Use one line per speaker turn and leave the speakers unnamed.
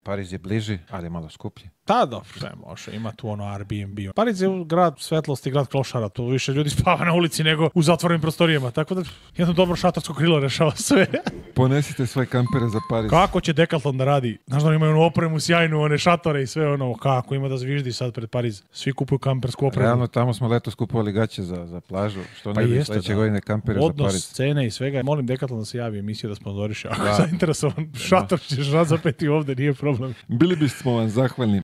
Pariz je bliži, ali je malo skuplji.
Da, dobro, sve može. Ima tu ono Airbnb. Pariz je grad svetlosti, grad klošara. Tu više ljudi spava na ulici nego u zatvorenim prostorijama. Tako da jedno dobro šatorsko krilo rešava sve.
Ponesite svoje kampere za Pariz.
Kako će Decathlon da radi? Znaš da oni imaju onu opremu sjajnu, one šatore i sve ono. Kako ima da zviždi sad pred Pariz? Svi kupuju kampersku opremu.
Realno, tamo smo letos kupovali gaće za plažu. Što
Pa
ne bi
jeste,
sledeće
da.
godine kampere za
Odnos,
Pariz.
cene i svega. Molim Decathlon da se javi emisiju da sponzoriše. Ako
Da.
je zainteresovan, šator ćeš razapeti ovde, nije problem.
Bili bismo vam zahvalni